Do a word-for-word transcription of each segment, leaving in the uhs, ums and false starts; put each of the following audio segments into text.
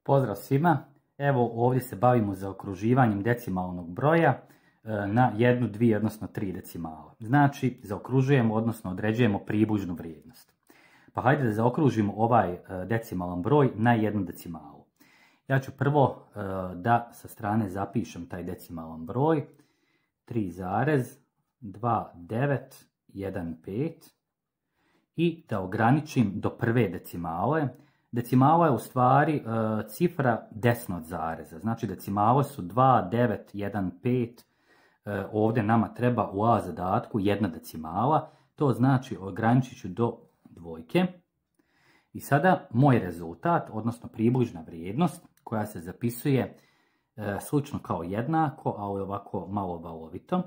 Pozdrav svima, evo ovdje se bavimo zaokruživanjem decimalnog broja na jednu, dvije, odnosno tri decimale. Znači, zaokružujemo, odnosno određujemo približnu vrijednost. Pa hajde da zaokružimo ovaj decimalan broj na jednu decimalu. Ja ću prvo da sa strane zapišem taj decimalan broj tri zarez dva devet jedan pet i da ograničim do prve decimale. Decimala je u stvari e, cifra desno od zareza, znači decimale su dva devet jedan pet, e, ovdje nama treba u A zadatku jedna decimala, to znači ograničit ću do dvojke. I sada moj rezultat, odnosno približna vrijednost koja se zapisuje e, slično kao jednako, ali ovako malo valovito,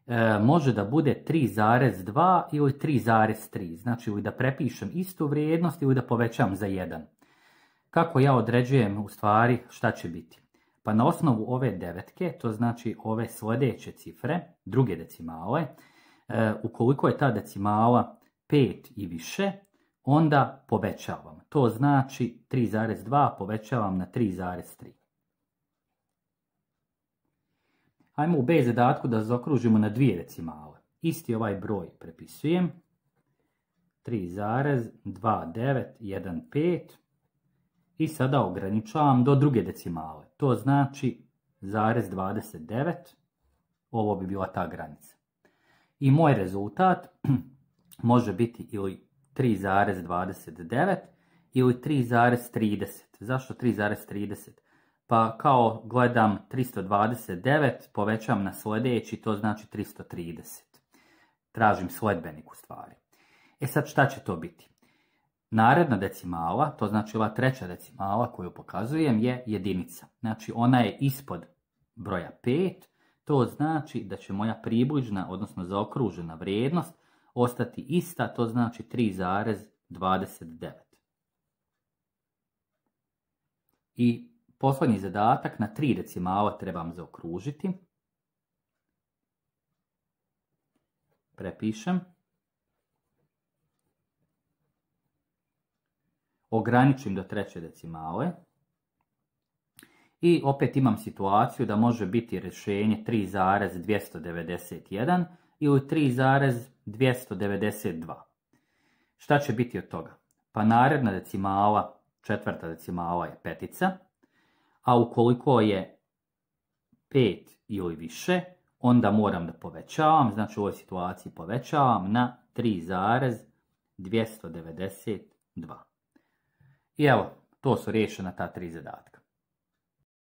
e, može da bude tri zarez dva ili tri zarez tri, znači ili da prepišem istu vrijednost ili da povećam za jedan. Kako ja određujem u stvari šta će biti? Pa na osnovu ove devetke, to znači ove sljedeće cifre, druge decimale, e, ukoliko je ta decimala pet i više, onda povećavam. To znači tri zarez dva povećavam na tri zarez tri. Hajmo u B zadatku da zaokružimo na dvije decimale. Isti ovaj broj prepisujem. tri zarez dva devet jedan pet i sada ograničavam do druge decimale. To znači zarez dvadeset devet. Ovo bi bila ta granica. I moj rezultat može biti ili tri zarez dvadeset devet ili tri zarez trideset. Zašto tri zarez trideset? Pa kao gledam tristo dvadeset devet, povećam na sljedeći, to znači tristo trideset. Tražim sledbenik u stvari. E sad šta će to biti? Naredna decimala, to znači ova treća decimala koju pokazujem, je jedinica. Znači ona je ispod broja pet, to znači da će moja približna, odnosno zaokružena vrijednost ostati ista, to znači tri zarez dvadeset devet. I posljednji zadatak na tri decimala trebam zaokružiti. Prepišem. Ograničim do treće decimale. I opet imam situaciju da može biti rješenje tri zarez dvjesto devedeset jedan ili tri zarez dvjesto devedeset dva. Šta će biti od toga? Pa naredna decimala, četvrta decimala je petica, a ukoliko je pet ili više, onda moram da povećavam, znači u ovoj situaciji povećavam na tri zarez dvjesto devedeset dva. I evo, to su riješena ta tri zadatka.